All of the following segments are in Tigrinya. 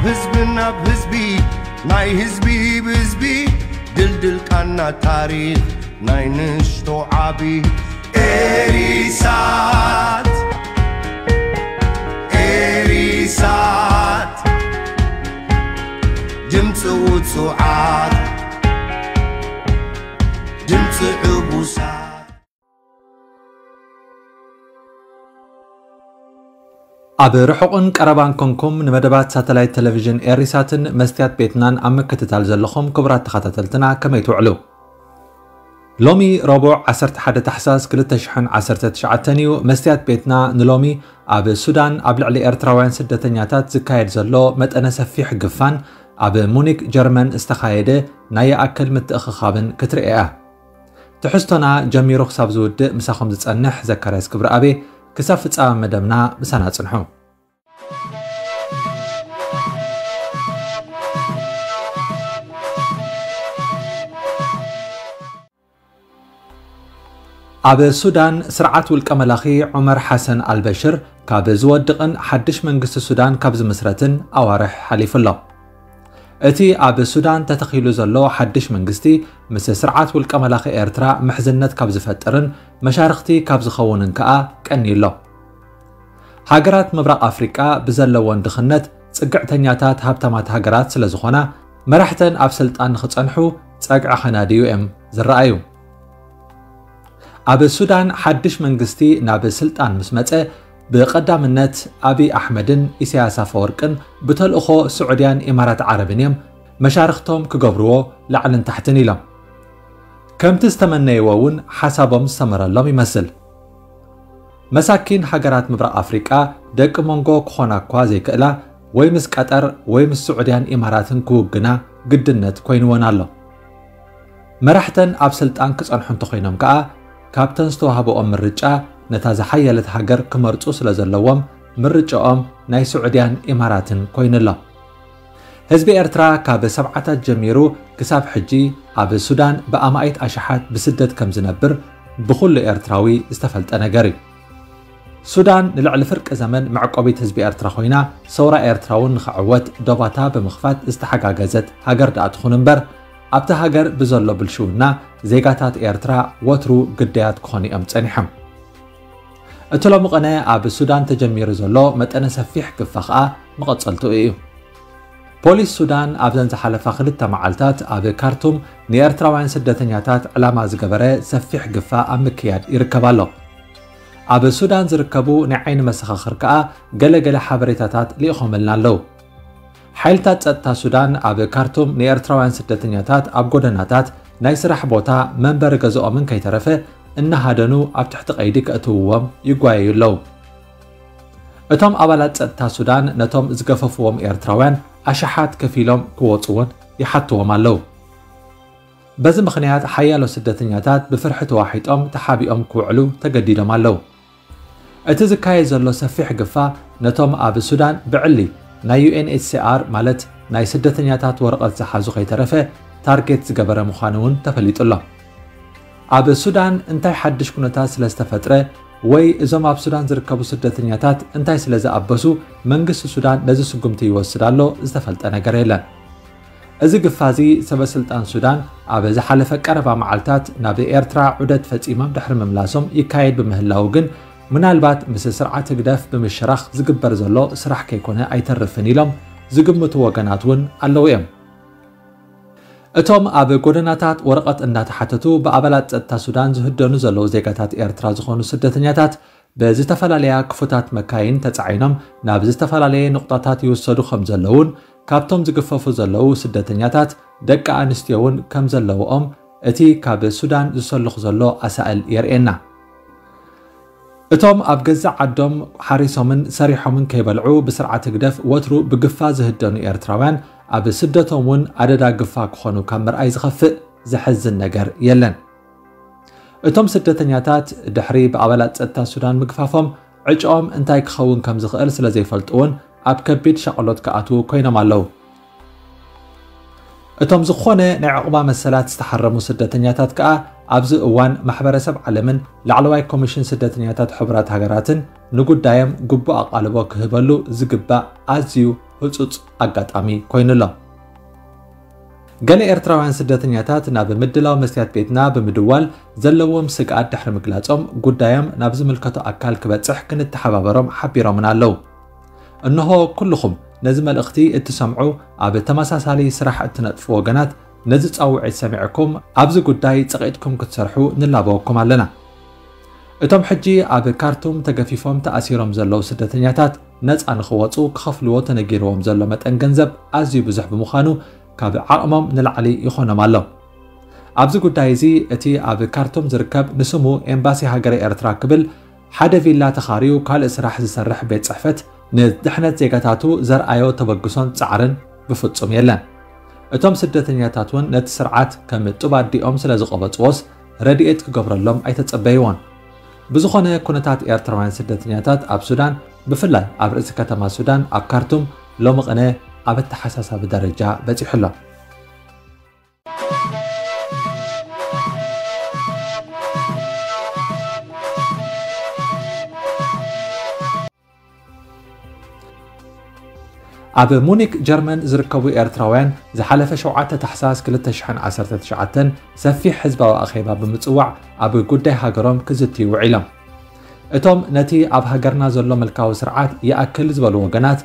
ህዝቢ ናብ ህዝቢ፣ ናይ ህዝቢ ብህዝቢ፣ ድልድል ቃና ታሪኽ ናይ ንእሽቶ ዓቢ። ኤሪሳት፣ ኤሪሳት፣ ድምፂ ውፁዓት፣ ድምፂ ዕቡሳት። ኣብ ርሑቕን ቀረባን ኮንኩም ንመደባት ሳተላይት ቴሌቪዥን ኤሪሳትን መስትያት ቤትናን ኣብ ምክትታል ዘለኹም ክቡራት ተኸታተልትና፣ ከመይ ትውዕሉ? ሎሚ ረቡዕ ዓሰርተ ሓደ ታሕሳስ ክልተ ሽሕን ዓሰርተ ትሽዓተን እዩ። መስትያት ቤትና ንሎሚ ኣብ ሱዳን ኣብ ልዕሊ ኤርትራውያን ስደተኛታት ዝካየድ ዘሎ መጠነ ሰፊሕ ግፋን ኣብ ሙኒክ ጀርመን ዝተኻየደ ናይ ይኣክል ምትእኽኻብን ክትርኢ እያ። ትሕዝቶና ጀሚሩ ክሳብ ዝውድእ ምሳኹም ዝጸንሕ ዘካርያስ ክብረኣቤ። ክሳብ ፍጻመ መደብና ምሳና ጽንሑ። ኣብ ሱዳን፣ ስርዓት ውልቀ መላኺ ዑመር ሓሰን ኣልበሽር ካብ ዝወድቕን ሓድሽ መንግስቲ ሱዳን ካብ ዝምስረትን ኣዋርሕ ሓሊፉ ኣሎ። እቲ ኣብ ሱዳን ተተኺሉ ዘሎ ሓድሽ መንግስቲ፣ ምስ ስርዓት ውልቀ መላኺ ኤርትራ ምሕዝነት ካብ ዝፈጥርን መሻርኽቲ ካብ ዝኸውንን ከኣ ቀንዩ ኣሎ። ሃገራት ምብራቕ ኣፍሪቃ ብዘለወን ድኽነት ጽግዕተኛታት ሃብታማት ሃገራት ስለ ዝኾና፣ መራሕተን ኣብ ስልጣን ንኽጸንሑ ጸግዒ ከናድዩ እዮም ዝረኣዩ። ኣብ ሱዳን ሓድሽ መንግስቲ ናብ ስልጣን ምስ መጸ፣ ብቐዳምነት ኣብይ ኣሕመድን ኢሳያስ ኣፈወርቅን ብተልእኾ ስዑድያን ኢማራት ዓረብን እዮም መሻርኽቶም ክገብርዎ ላዕልን ታሕትን ኢሎም። ከምቲ ዝተመነይዎ እውን ሓሳቦም ዝሰመረሎም ይመስል። መሳኪን ሃገራት ምብራቕ ኣፍሪቃ ደቂ መንጎ ክኾና እኳ ዘይክእላ፣ ወይ ምስ ቀጠር ወይ ምስ ስዑድያን ኢማራትን ክውግና ግድነት ኮይንወን ኣሎ። መራሕተን ኣብ ስልጣን ክጸንሑ እንተኾይኖም ከኣ፣ ካብተን ዝተዋህበኦም ምርጫ ነታ ዝሓየለት ሃገር ክመርጹ ስለ ዘለዎም፣ ምርጫኦም ናይ ስዑድያን ኢማራትን ኮይኑ ኣሎ። ህዝቢ ኤርትራ ካብ ሰብዓታት ጀሚሩ ክሳብ ሕጂ ኣብ ሱዳን ብኣማኢት ኣሽሓት ብስደት ከም ዝነብር ብኹሉ ኤርትራዊ ዝተፈልጠ ነገር እዩ። ሱዳን ንልዕሊ ፍርቂ ዘመን መዕቆቢት ህዝቢ ኤርትራ ኮይና፣ ሰውራ ኤርትራ እውን ንኽዕወት ዶባታ ብምኽፋት ዝተሓጋገዘት ሃገር ደኣ ትኹን እምበር፣ ኣብታ ሃገር ብዘሎ ብልሽውና ዜጋታት ኤርትራ ወትሩ ግዳያት ክኾኑ እዮም ጸኒሖም። እቲ ሎሚ ቅነ ኣብ ሱዳን ተጀሚሩ ዘሎ መጠነ ሰፊሕ ግፋ ኸኣ መቐጸልትኡ እዩ። ፖሊስ ሱዳን ኣብዘን ዝሓለፋ ክልተ መዓልታት ኣብ ካርቱም ንኤርትራውያን ስደተኛታት ዕላማ ዝገበረ ሰፊሕ ግፋ ኣብ ምክያድ ይርከብ ኣሎ። ኣብ ሱዳን ዝርከቡ ናይ ዓይኒ መሰኻኽር ከኣ ገለ ገለ ሓበሬታታት ልኢኾምልና ኣለዉ። ሓይልታት ጸጥታ ሱዳን ኣብ ካርቱም ንኤርትራውያን ስደተኛታት ኣብ ጎደናታት፣ ናይ ስራሕ ቦታ፣ መንበሪ ገዝኦምን ከይተረፈ እናሃደኑ ኣብ ትሕቲ ቀይዲ ከእትውዎም ይጓየዩ ኣለዉ። እቶም ኣባላት ጸጥታ ሱዳን ነቶም ዝገፈፍዎም ኤርትራውያን ኣሽሓት ከፊሎም ክወጹ እውን ይሓትዎም ኣለዉ። በዚ ምኽንያት ሓያሎ ስደተኛታት ብፍርሒ ተዋሒጦም ተሓቢኦም ክውዕሉ ተገዲዶም ኣለዉ። እቲ ዝካየድ ዘሎ ሰፊሕ ግፋ ነቶም ኣብ ሱዳን ብዕሊ ናይ ዩ ኤን ኤች ሲ ኣር ማለት ናይ ስደተኛታት ወረቐት ዝሓዙ ከይተረፈ ታርጌት ዝገበረ ምዃኑ እውን ተፈሊጡ ኣሎ። ኣብ ሱዳን እንታይ ሓድሽ ኩነታት ስለ ዝተፈጥረ ወይ እዞም ኣብ ሱዳን ዝርከቡ ስደተኛታት እንታይ ስለ ዝኣበሱ መንግስቲ ሱዳን ነዚ ስጉምቲ ይወስድ ኣሎ ዝተፈልጠ ነገር የለን። እዚ ግፋ እዚ ሰበ ስልጣን ሱዳን ኣብ ዝሓለፈ ቀረባ መዓልታት ናብ ኤርትራ ዑደት ፈጺሞም ድሕሪ ምምላሶም ይካየድ ብምህላዉ ግን ምናልባት ምስ ስርዓት ህግደፍ ብምሽራኽ ዝግበር ዘሎ ስራሕ ከይኮነ ኣይተርፍን ኢሎም ዝግምቱ ወገናት እውን ኣለዉ እዮም። እቶም ኣብ ጎደናታት ወረቐት እናተሓተቱ ብኣባላት ጸጥታ ሱዳን ዝህደኑ ዘለዉ ዜጋታት ኤርትራ ዝኾኑ ስደተኛታት ብዝተፈላለያ ክፉታት መካይን ተጻዒኖም ናብ ዝተፈላለየ ንቑጣታት ይውሰዱ ከም ዘለዉን ካብቶም ዝግፈፉ ዘለዉ ስደተኛታት ደቂ ኣንስትዮ እውን ከም ዘለውኦም እቲ ካብ ሱዳን ዝሰልኽ ዘሎ ኣሳእል የርእየና። እቶም ኣብ ገዛእ ዓዶም ሓሪሶምን ሰሪሖምን ከይበልዑ ብስርዓት ህግደፍ ወትሩ ብግፋ ዝህደኑ ኤርትራውያን ኣብ ስደቶም እውን ኣደዳ ግፋ ክኾኑ ካብ ምርኣይ ዝኸፍእ ዘሕዝን ነገር የለን። እቶም ስደተኛታት ድሕሪ ብኣባላት ጸጥታ ሱዳን ምግፋፎም ዕጭኦም እንታይ ክኸውን ከም ዝኽእል ስለ ዘይፈልጡ እውን ኣብ ከቢድ ሻቕሎት ክኣትዉ ኮይኖም ኣለዉ። እቶም ዝኾነ ናይ ዕቑባ መሰላት ዝተሓረሙ ስደተኛታት ከኣ ኣብዚ እዋን ማሕበረሰብ ዓለምን ላዕለዋይ ኮሚሽን ስደተኛታት ሕቡራት ሃገራትን ንጉዳዮም ግቡእ ኣቓልቦ ክህበሉ ዝግባእ ኣዝዩ ህጹጽ ኣጋጣሚ ኮይኑ ኣሎ። ገለ ኤርትራውያን ስደተኛታት ናብ ምድላው መስትያት ቤትና ብምድዋል ዘለዎም ስግኣት ድሕሪ ምግላጾም፣ ጉዳዮም ናብ ዝምልከቶ ኣካል ክበጽሕ ክንተሓባበሮም ሓቢሮምና ኣለዉ። እንሆ፣ ኩልኹም ነዚ መልእኽቲ እትሰምዑ፣ ኣብ ተመሳሳሊ ስራሕ እትነጥፉ ወገናት፣ ነዚ ጻውዒት ሰሚዕኩም ኣብዚ ጉዳይ ጸቒጥኩም ክትሰርሑ ንላበወኩም ኣለና። እቶም ሕጂ ኣብ ካርቱም ተገፊፎም ተኣሲሮም ዘለዉ ስደተኛታት ነጻ ንኽወጹ ክኸፍልዎ ተነጊርዎም ዘሎ መጠን ገንዘብ ኣዝዩ ብዙሕ ብምዃኑ፣ ካብ ዓቕሞም ንላዕሊ ይኾኖም ኣሎ። ኣብዚ ጉዳይ እዚ እቲ ኣብ ካርቱም ዝርከብ ንስሙ ኤምባሲ ሃገረ ኤርትራ ክብል ሓደ ቪላ ተኻርዩ ካልእ ስራሕ ዝሰርሕ ቤት ጽሕፈት ንድሕነት ዜጋታቱ ዘርኣዮ ተበግሶን ጻዕርን ብፍጹም የለን። እቶም ስደተኛታት እውን ነቲ ስርዓት ከም ጡብ ኣዲኦም ስለ ዝቐበጽዎስ ረድኤት ክገብረሎም ኣይተጸበይዎን። ብዝኾነ ኩነታት ኤርትራውያን ስደተኛታት ኣብ ሱዳን፣ ብፍላይ ኣብ ርእሲ ከተማ ሱዳን ኣብ ካርቱም ሎሚ ቅነ ኣብ ኣተሓሳሳቢ ደረጃ በጺሑ ኣሎ። ኣብ ሙኒክ ጀርመን ዝርከቡ ኤርትራውያን ዝሓለፈ ሸውዓተ ታሕሳስ ክልተ ሽሕን ዓሰርተ ትሽዓተን ሰፊሕ ህዝባዊ ኣኼባ ብምጽዋዕ ኣብ ጉዳይ ሃገሮም ክዝትዩ ውዒሎም። እቶም ነቲ ኣብ ሃገርና ዘሎ ምልካዊ ስርዓት ይኣክል ዝበሉ ወገናት፣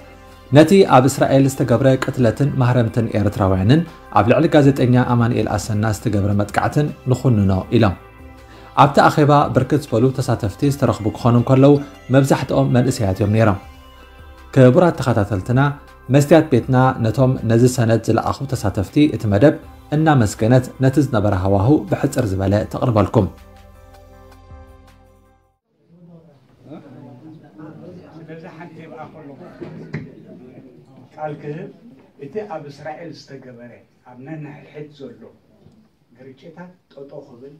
ነቲ ኣብ እስራኤል ዝተገብረ ቅትለትን ማህረምትን ኤርትራውያንን ኣብ ልዕሊ ጋዜጠኛ ኣማኑኤል ኣሰና ዝተገብረ መጥቃዕትን ንኹንኖ ኢሎም። ኣብቲ ኣኼባ ብርክት ዝበሉ ተሳተፍቲ ዝተረኽቡ ክኾኑ እንከለዉ፣ መብዛሕትኦም መንእሰያት እዮም ነይሮም። ክቡራት ተኸታተልትና፣ መስትያት ቤትና ነቶም ነዚ ሰነድ ዝለኣኹ ተሳተፍቲ እቲ መደብ እናመስገነት፣ ነቲ ዝነበረ ሃዋሁ ብሕጽር ዝበለ ተቕርበልኩም። ስለዚ ሓንቲ ይብኣ ከለኹ ቃል ክህብ፣ እቲ ኣብ እስራኤል ዝተገበረ ኣብ ነንሕድሕድ ዘሎ ግርጭታት ጠጦ ክብል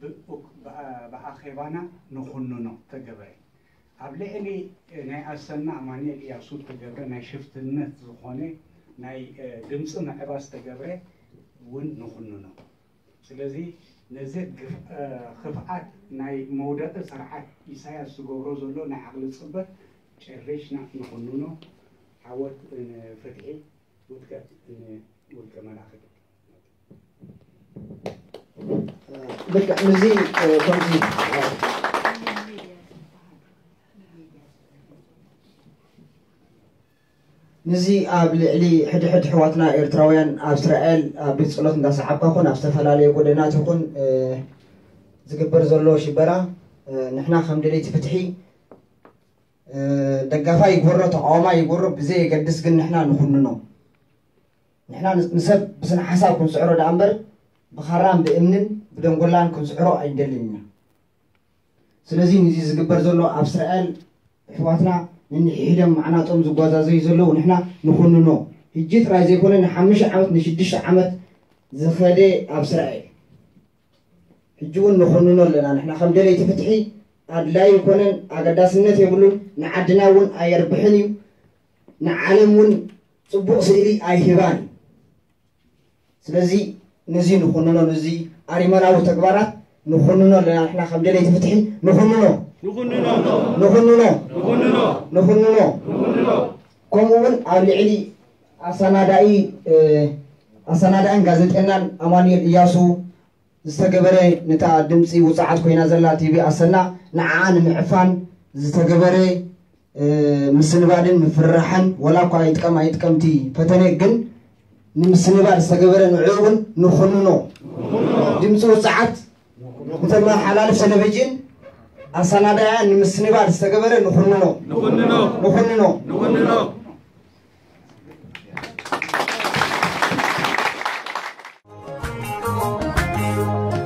ብ- ብኣ- ብኣኼባና ንኹንኖ ተገብረ። ኣብ ልዕሊ ናይ ኣሰና ኣማኑኤል እያሱ ተገብረ ናይ ሽፍትነት ዝኾነ ናይ እ፣ ድምፂ ምዕባስ ተገብረ እውን ንኹንኖ። ስለዚ ነዚ ግፍ- እ፣ ክፍኣት ናይ መውደቂ ስርዓት ኢሳያስ ዝገብሮ ዘሎ ናይ ዓቕሊ ፅበት ጨሪሽና ንኹንኖ። ዓወት ንፍትሒ፣ ውድቀት ንውልቀ መላኺ። ልክዕ ምስዚ ከምዚ ምስዚ ኣብ ልዕሊ ሕድሕድ ኣሕዋትና ኤርትራውያን ኣብ እስራኤል ኣብ ቤት ጸሎት እንዳሰዓብካ ኮን ኣብ ዝተፈላለየ ጎደናት ይኹን ዝግበር ዘሎ ሽበራ ንሕና ከም ደለይቲ ፍትሒ ደጋፋይ ይግበሮ ተቃዋማይ ይግበሮ ብዘየገድስ ግን ንሕና ንኹንኖ ንሕና ንሰብ ብስነ ሓሳብ ክንስዕሮ ደኣ እምበር ብኻራን ብእምንን ብደንጎላን ክንስዕሮ ኣይንደልን ኢና። ስለዚ ንዚ ዝግበር ዘሎ ኣብ እስራኤል ኣሕዋትና ነንሕድሕዶም ማዕናጦም ዝጓዛዘዩ ዘለዉ ንሕና ንኹንኖ። ሕጂ ጥራይ ዘይኮነ ንሓሙሽተ ዓመት ንሽዱሽተ ዓመት ዝኸደ ኣብ እስራኤል ሕጂ እውን ንኹንኖ ኣለና። ንሕና ከም ደለይቲ ፍትሒ ኣድላይ ይኮነን፣ ኣገዳስነት የብሉን፣ ንዓድና እውን ኣየርብሕን እዩ፣ ንዓለም እውን ፅቡቕ ስእሊ ኣይህባን እዩ። ስለዚ ነዚ ንኹንኖ፣ ነዚ ኣሪመናዊ ተግባራት ንኹንኖ ኣለና። ንሕና ከም ደለይቲ ፍትሒ ንኹንኖ ንኹንኖ ንኹንኖ ንኹንኖ ንኹንኖ ከምኡ እውን ኣብ ልዕሊ ኣሰናዳኢ ኣሰናዳእን ጋዜጠኛን ኣማኑኤል እያሱ ዝተገበረ ነታ ድምፂ ውፅዓት ኮይና ዘላ ቲቪ ኣሰና ንዓኣ ንምዕፋን ዝተገበረ ምስንባድን ምፍርራሕን ወላ እኳ ይጥቀም ኣይጥቀምቲ ፈተነ ግን ንምስንባድ ዝተገበረ ንዕኡ እውን ንኹንኖ ድምፂ ውፅዓት ንተመሓላልፍ ቴሌቪዥን ኣሰናዳያ ንምስንባድ ዝተገበረ ንኹንኖ ንኹንኖ ንኹንኖ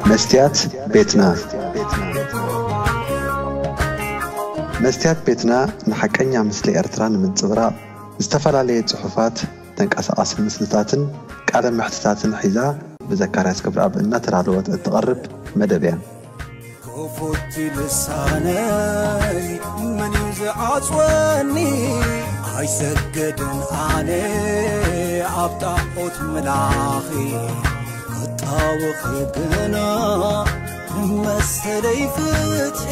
መስትያት ቤትና መስትያት ቤትና ንሓቀኛ ምስሊ ኤርትራ ንምንጽብራቕ ዝተፈላለየ ጽሑፋት፣ ተንቀሳቓሲ ምስልታትን ቃለ መሕትታትን ሒዛ ብዘካርያስ ገብረኣብ እናተዳለወት እትቐርብ መደብ እያ። ክፉት ልሳነይ መን እዩ ዝዓጽወኒ? ኣይሰግድን ኣነ ኣብ ጣዖት ምላኺ፣ ክጣወኺ ግና ንመሰለይ ፍትሒ።